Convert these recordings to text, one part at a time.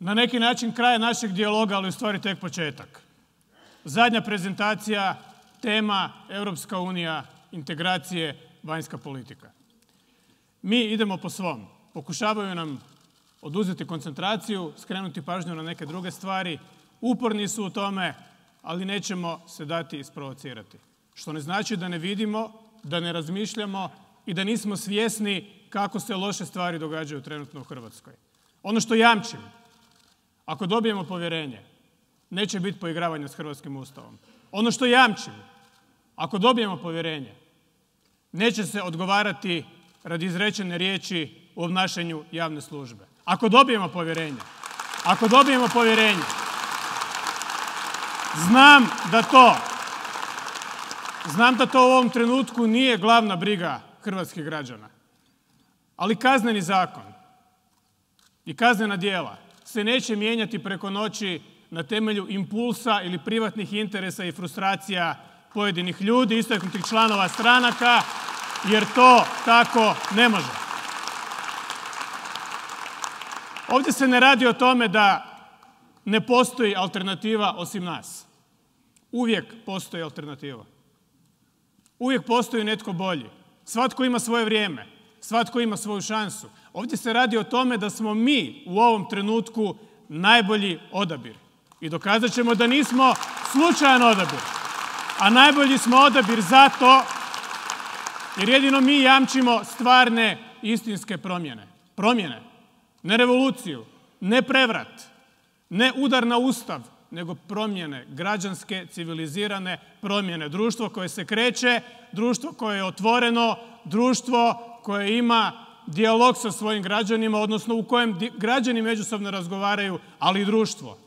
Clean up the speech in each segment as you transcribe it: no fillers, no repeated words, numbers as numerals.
na neki način kraj našeg dijaloga, ali u stvari tek početak. Zadnja prezentacija, tema Europska unija, integracije, vanjska politika. Mi idemo po svom. Pokušavaju nam oduzeti koncentraciju, skrenuti pažnju na neke druge stvari. Uporni su u tome, ali nećemo se dati isprovocirati. Što ne znači da ne vidimo, da ne razmišljamo i da nismo svjesni kako se loše stvari događaju trenutno u Hrvatskoj. Ono što jamčim, ako dobijemo povjerenje, neće biti poigravanja s hrvatskim Ustavom. Ono što jamčim, ako dobijemo povjerenje, neće se odgovarati radi izrečene riječi u obnašanju javne službe. Ako dobijemo povjerenje, znam da to u ovom trenutku nije glavna briga hrvatskih građana. Ali kazneni zakon i kaznena djela se neće mijenjati preko noći na temelju impulsa ili privatnih interesa i frustracija pojedinih ljudi, istaknutih članova stranaka, jer to tako ne može. Ovdje se ne radi o tome da ne postoji alternativa osim nas. Uvijek postoji alternativa. Uvijek postoji netko bolji. Svatko ima svoje vrijeme. Svatko ima svoju šansu. Ovdje se radi o tome da smo mi u ovom trenutku najbolji odabir. I dokazat ćemo da nismo slučajan odabir. A najbolji smo odabir zato jer jedino mi jamčimo stvarne istinske promjene. Promjene. Ne revoluciju, ne prevrat, ne udar na Ustav, nego promjene, građanske, civilizirane promjene. Društvo koje se kreće, društvo koje je otvoreno, društvo koje ima dijalog sa svojim građanima, odnosno u kojem građani međusobno razgovaraju, ali i društvo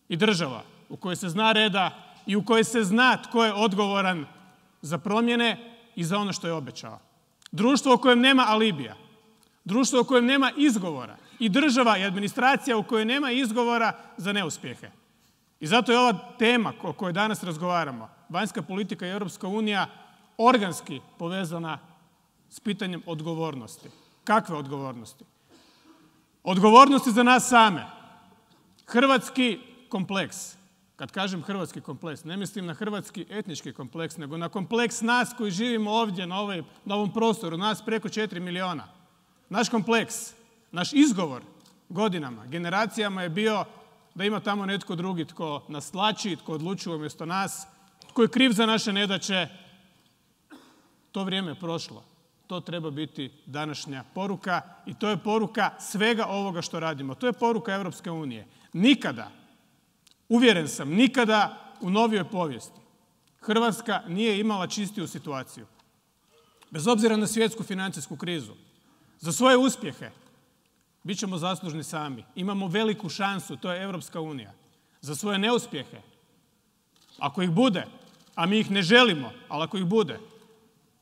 i država u kojoj se zna reda i u kojoj se zna tko je odgovoran za promjene i za ono što je obećao. Društvo u kojem nema alibija, društvo u kojem nema izgovora i država i administracija u kojoj nema izgovora za neuspjehe. I zato je ova tema o kojoj danas razgovaramo, vanjska politika i Europska unija, organski povezana s pitanjem odgovornosti. Kakve odgovornosti? Odgovornosti za nas same. Hrvatski kompleks. Kad kažem hrvatski kompleks, ne mislim na hrvatski etnički kompleks, nego na kompleks nas koji živimo ovdje na ovom prostoru, nas preko 4 milijuna. Naš kompleks, naš izgovor godinama, generacijama je bio da ima tamo netko drugi tko nas tlači, tko odlučuje umjesto nas, tko je kriv za naše nedaće. To vrijeme je prošlo. To treba biti današnja poruka i to je poruka svega ovoga što radimo. To je poruka Europske unije. Nikada, uvjeren sam, nikada u novijoj povijesti Hrvatska nije imala čistiju situaciju. Bez obzira na svjetsku financijsku krizu. Za svoje uspjehe bit ćemo zaslužni sami. Imamo veliku šansu, to je Europska unija. Za svoje neuspjehe, ako ih bude, a mi ih ne želimo, ali ako ih bude,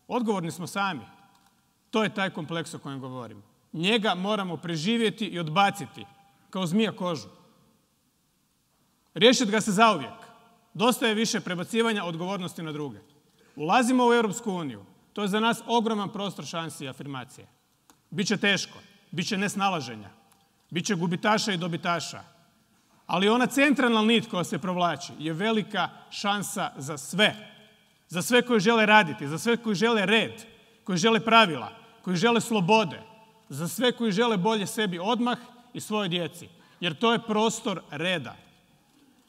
odgovorni smo sami. To je taj kompleks o kojem govorim. Njega moramo preživjeti i odbaciti, kao zmija kožu. Riješiti ga se zauvijek. Dosta je više prebacivanja odgovornosti na druge. Ulazimo u Europsku uniju. To je za nas ogroman prostor šansi i afirmacije. Biće teško, biće nesnalaženja, biće gubitaša i dobitaša. Ali ona centralna nit koja se provlači je velika šansa za sve. Za sve koji žele raditi, za sve koji žele red, koji žele pravila, koji žele slobode, za sve koji žele bolje sebi odmah i svojoj djeci. Jer to je prostor reda.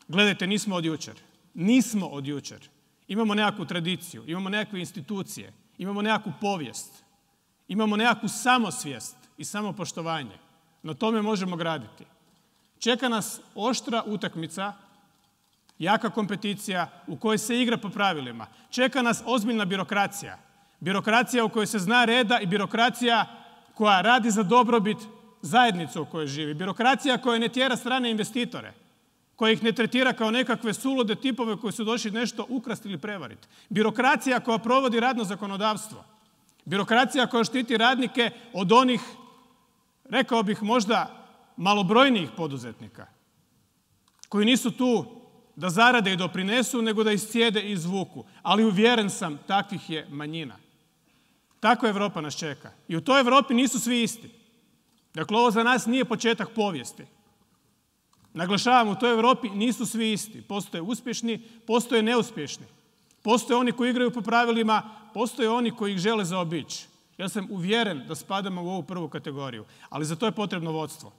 Gledajte, nismo od jučer. Nismo od jučer. Imamo nekakvu tradiciju, imamo nekakve institucije, imamo nekakvu povijest, imamo nekakvu samosvijest i samopoštovanje. Na tome možemo graditi. Čeka nas oštra utakmica, jaka kompeticija u kojoj se igra po pravilima. Čeka nas ozbiljna birokracija. Birokracija u kojoj se zna reda i birokracija koja radi za dobrobit zajednice u kojoj živi. Birokracija koja ne tjera strane investitore, koja ih ne tretira kao nekakve sulude tipove koji su došli nešto ukrasti ili prevariti. Birokracija koja provodi radno zakonodavstvo. Birokracija koja štiti radnike od onih, rekao bih možda, malobrojnijih poduzetnika, koji nisu tu da zarade i doprinesu, nego da iscijede i izvuku. Ali uvjeren sam, takvih je manjina. Tako Europa nas čeka. I u toj Europi nisu svi isti. Dakle, ovo za nas nije početak povijesti. Naglašavam, u toj Europi nisu svi isti. Postoje uspješni, postoje neuspješni. Postoje oni koji igraju po pravilima, postoje oni koji ih žele zaobići. Ja sam uvjeren da spadamo u ovu prvu kategoriju, ali za to je potrebno vodstvo.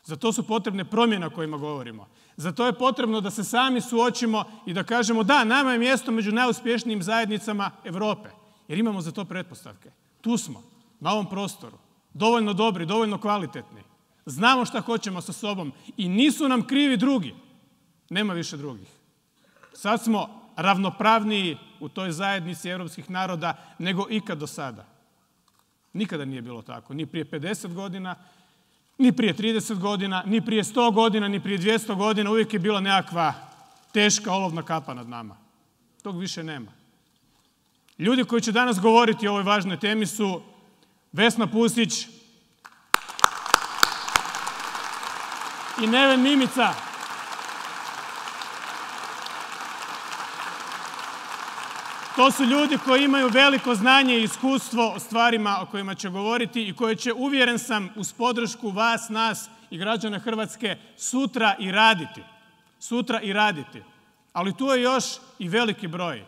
Za to su potrebne promjene o kojima govorimo. Za to je potrebno da se sami suočimo i da kažemo da, nama je mjesto među najuspješnijim zajednicama Europe, jer imamo za to pretpostavke. Tu smo, na ovom prostoru, dovoljno dobri, dovoljno kvalitetni. Znamo šta hoćemo sa sobom i nisu nam krivi drugi. Nema više drugih. Sad smo ravnopravniji u toj zajednici europskih naroda nego ikad do sada. Nikada nije bilo tako. Ni prije 50 godina, ni prije 30 godina, ni prije 100 godina, ni prije 200 godina. Uvijek je bila nekakva teška olovna kapa nad nama. Tog više nema. Ljudi koji će danas govoriti o ovoj važnoj temi su Vesna Pusić i Neven Mimica. To su ljudi koji imaju veliko znanje i iskustvo o stvarima o kojima će govoriti i koje će, uvjeren sam, uz podršku vas, nas i građana Hrvatske sutra i raditi. Sutra i raditi. Ali tu je još i veliki broj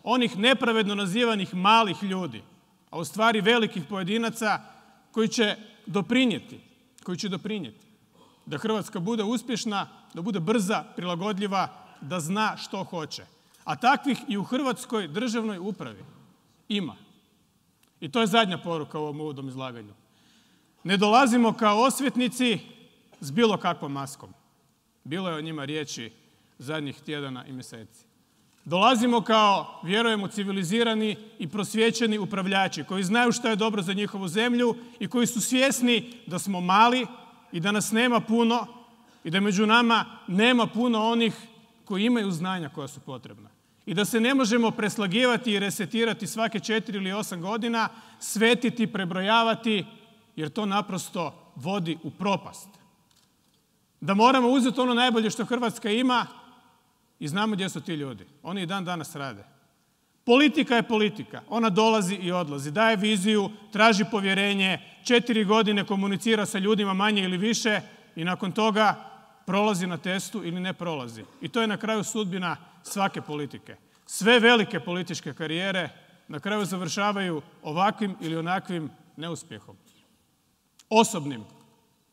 onih nepravedno nazivanih malih ljudi, a u stvari velikih pojedinaca koji će doprinijeti da Hrvatska bude uspješna, da bude brza, prilagodljiva, da zna što hoće. A takvih i u hrvatskoj državnoj upravi ima. I to je zadnja poruka u ovom uvodnom izlaganju. Ne dolazimo kao osvetnici s bilo kakvom maskom. Bilo je o njima riječi zadnjih tjedana i mjeseci. Dolazimo kao, vjerujemo, civilizirani i prosvjećeni upravljači koji znaju što je dobro za njihovu zemlju i koji su svjesni da smo mali i da nas nema puno i da među nama nema puno onih koji imaju znanja koja su potrebna. I da se ne možemo preslagivati i resetirati svake 4 ili 8 godina, svetiti, prebrojavati, jer to naprosto vodi u propast. Da moramo uzeti ono najbolje što Hrvatska ima i znamo gdje su ti ljudi. Oni i dan danas rade. Politika je politika. Ona dolazi i odlazi. Daje viziju, traži povjerenje, 4 godine komunicira sa ljudima manje ili više i nakon toga prolazi na testu ili ne prolazi. I to je na kraju sudbina svake politike. Sve velike političke karijere na kraju završavaju ovakvim ili onakvim neuspjehom. Osobnim,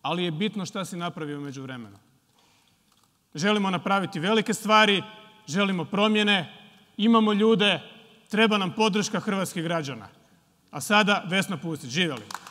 ali je bitno šta si napravio u međuvremenu. Želimo napraviti velike stvari, želimo promjene, imamo ljude, treba nam podrška hrvatskih građana. A sada Vesna Pusić, živjeli!